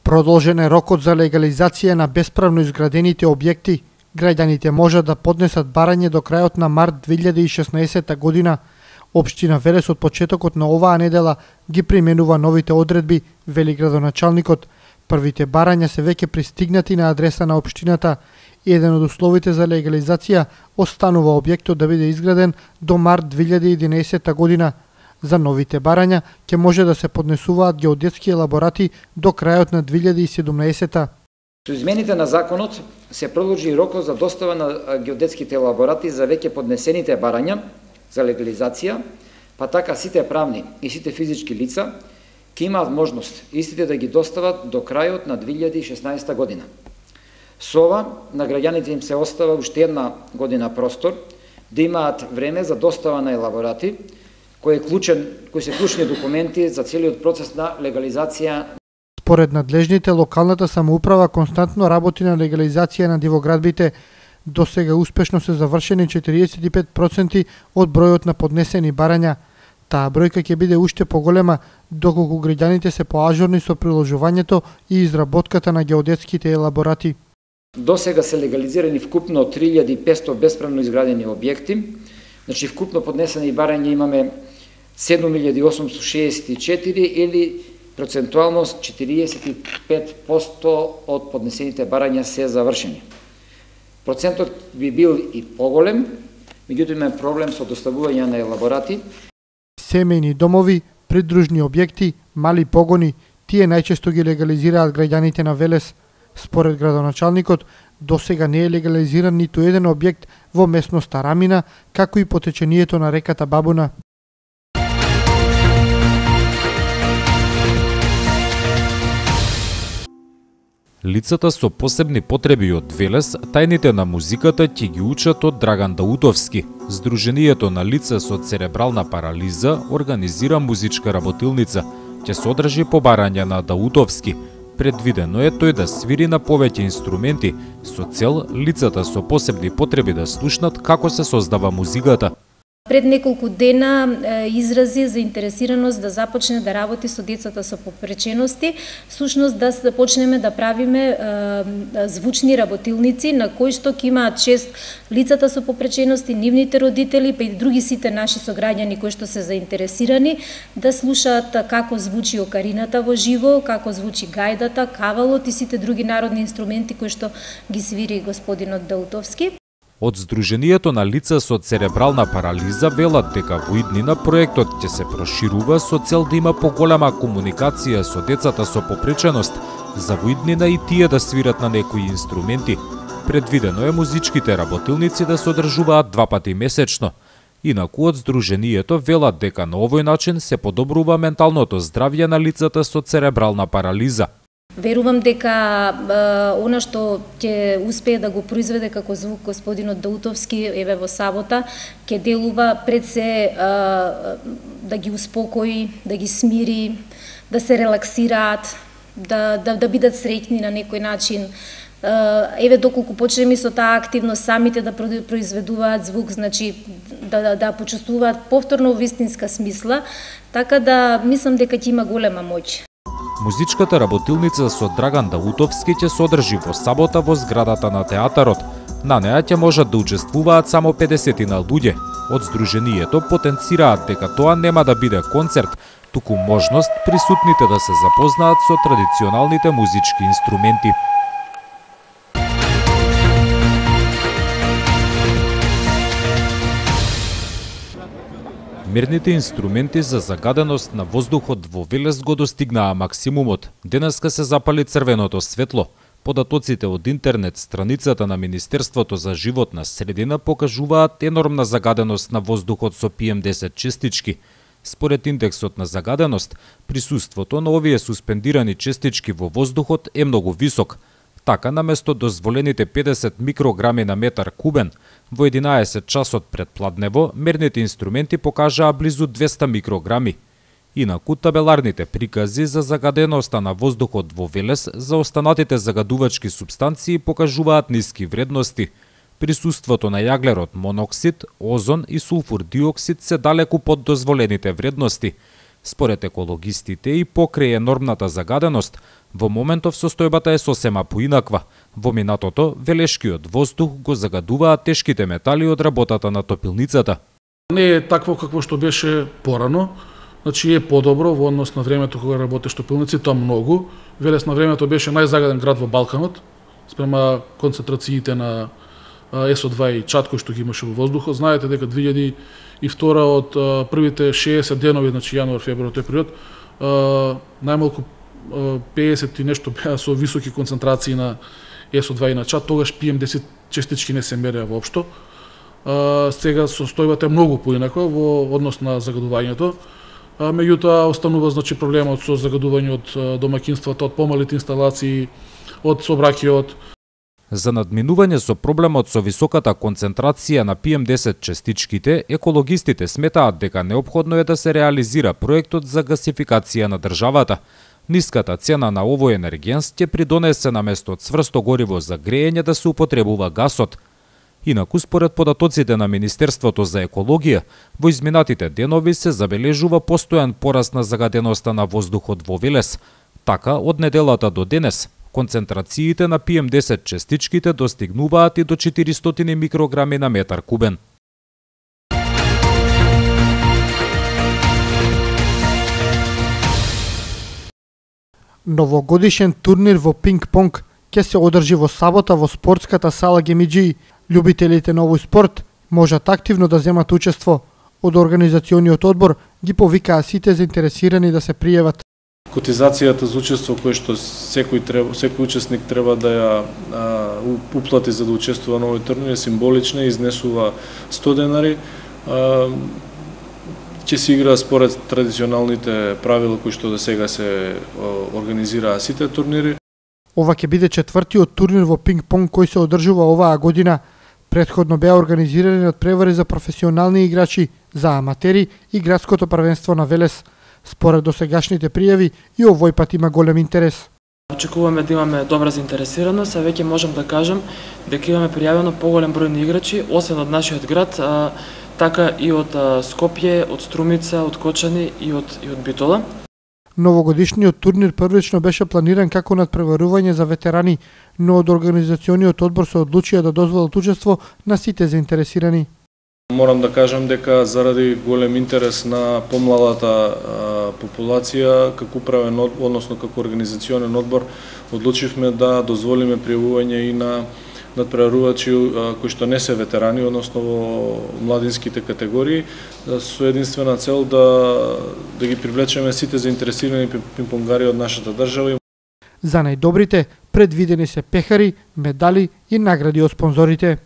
Продолжен е рокот за легализација на бесправно изградените објекти. Граѓаните можат да поднесат барање до крајот на март 2016 година. Општина Велес од почетокот на оваа недела ги применува новите одредби, вели градоначалникот. Првите барања се веќе пристигнати на адреса на општината. Еден од условите за легализација останува објектот да биде изграден до март 2011 година. За новите барања ќе може да се поднесуваат геодетски елаборати до крајот на 2017. Со измените на законот се продолжи рокот за достава на геодетските елаборати за веќе поднесените барања за легализација, па така сите правни и сите физички лица ќе имаат можност истите да ги достават до крајот на 2016 година. Со ова, на граѓаните им се остава уште една година простор да имаат време за достава на елаборати, кои се клучни документи за целиот процес на легализација. Според надлежните, локалната самоуправа константно работи на легализација на дивоградбите. До сега успешно се завршени 45% од бројот на поднесени барања. Таа бројка ќе биде уште поголема доколку граѓаните се поажурни со приложувањето и изработката на геодетските елаборати. До сега се легализирани вкупно 3500 бесправно изградени објекти. Значи, вкупно поднесени барања имаме 7864 или процентуално 45% од поднесените барања се завршени. Процентот би бил и поголем, меѓутоа има проблем со доставување на елаборати. Семејни домови, придружни објекти, мали погони, тие најчесто ги легализираат граѓаните на Велес. Според градоначалникот, до сега не е легализиран ниту еден објект во местноста Рамина, како и по течението на реката Бабуна. Лицата со посебни потреби од Велес, тајните на музиката ќе ги учат од Драган Даутовски. Сдруженијето на лица со церебрална парализа организира музичка работилница. Ќе содржи побарања на Даутовски. Предвидено е тој да свири на повеќе инструменти со цел лицата со посебни потреби да слушнат како се создава музиката. Пред неколку дена изрази заинтересираност да започне да работи со децата со попречености, всушност да почнеме да правиме звучни работилници на кои што ќе имаат чест лицата со попречености, нивните родители, па и други сите наши сограѓани кои што се заинтересирани да слушаат како звучи окарината во живо, како звучи гајдата, кавалот и сите други народни инструменти кои што ги свири господинот Даутовски. Од Сдруженијето на лица со церебрална парализа велат дека во иднина проектот ќе се проширува со цел да има поголема комуникација со децата со попреченост, за во иднина и тие да свират на некои инструменти. Предвидено е музичките работилници да се одржуваат 2 пати месечно. Инаку од Сдруженијето велат дека на овој начин се подобрува менталното здравје на лицата со церебрална парализа. Верувам дека она што ќе успее да го произведе како звук господинот Даутовски еве во сабота, ќе делува пред се да ги успокои, да ги смири, да се релаксираат, да бидат среќни на некој начин. Еве доколку почнеме со таа активност самите да произведуваат звук, значи да почувствуваат повторно вистинска смисла, така да мислам дека ќе има голема моќ. Музичката работилница со Драган Даутовски ќе се одржи во сабота во зградата на театарот. На неа ќе можат да учествуваат само 50 луѓе. Од Сдруженијето потенцираат дека тоа нема да биде концерт, туку можност присутните да се запознаат со традиционалните музички инструменти. Мерните инструменти за загаденост на воздухот во Велес го достигнаа максимумот. Денеска се запали црвеното светло. Податоците од интернет страницата на Министерството за животна средина покажуваат енормна загаденост на воздухот со PM10 честички. Според индексот на загаденост, присуството на овие суспендирани честички во воздухот е многу висок. Така, наместо дозволените 50 микрограми на метар кубен, во 11 часот пред пладнево, мерните инструменти покажаа близу 200 микрограми. Инаку, табеларните прикази за загаденоста на воздухот во Велес за останатите загадувачки супстанции покажуваат ниски вредности. Присуството на јаглерод моноксид, озон и сулфур диоксид се далеку под дозволените вредности. Според екологистите и покрај енормната загаденост, во моментов состојбата е сосема поинаква. Во минатото, велешкиот воздух го загадуваат тешките метали од работата на топилницата. Не е такво какво што беше порано, значи е подобро во однос на времето кога работеш топилници, тоа многу. Велес на времето беше најзагаден град во Балканот, спрема концентрациите на СО2 и чад кој што ги имаше во воздухот. Знаете дека 2002 од првите 60 денови, значи јануар, февруар, тој период, најмалку 50 и нешто беа со високи концентрации на СО2 и на чад, тогаш PM10 честички не се мереа воопшто. Сега состојбата е многу поинаква во однос на загадувањето. Меѓутоа останува значи проблемот со загадување од домаќинствата, од помалите инсталации, од сообраќајот. За надминување со проблемот со високата концентрација на PM10 честичките, екологистите сметаат дека неопходно е да се реализира проектот за гасификација на државата. Ниската цена на овој енергенс ќе придонесе на место од цврсто гориво за грејење да се употребува гасот. Инаку, според податоците на Министерството за екологија, во изминатите денови се забележува постојан пораст на загаденоста на воздухот во Велес. Така, од неделата до денес, концентрациите на PM10 честичките достигнуваат и до 400 микрограми на метар кубен. Новогодишен турнир во пинг-понг ќе се одржи во сабота во спортската сала Гемиџи. Љубителите на овој спорт можат активно да земат учество. Од организациониот одбор ги повикаа сите заинтересирани да се пријават. Котизацијата за учество кој што секој учесник треба да ја уплати за да учествува на овој турнир е символична, изнесува 100 денари. Ќе се игра според традиционалните правила кои што до сега се организираа сите турнири. Ова ќе биде четвртиот турнир во пинг-понг кој се одржува оваа година. Предходно беа организирани од превари за професионални играчи, за аматери и градското првенство на Велес. Според досегашните пријави и овој пат има голем интерес. Очекуваме да имаме добра заинтересираност, а веќе можам да кажам дека имаме пријавено поголем број на играчи, освен од нашиот град, така и од Скопје, од Струмица, од Кочани и од Битола. Новогодишниот турнир првично беше планиран како надпреварување за ветерани, но од организациониот одбор се одлучија да дозволат учество на сите заинтересирани. Морам да кажам дека заради голем интерес на помладата популација, како управен, односно како организационен одбор, одлучивме да дозволиме пријавување и на надпреварувачи кои што не се ветерани, односно во младинските категории, со единствена цел да ги привлечеме сите заинтересирани пинг-понгари од нашата држава. За најдобрите предвидени се пехари, медали и награди од спонзорите.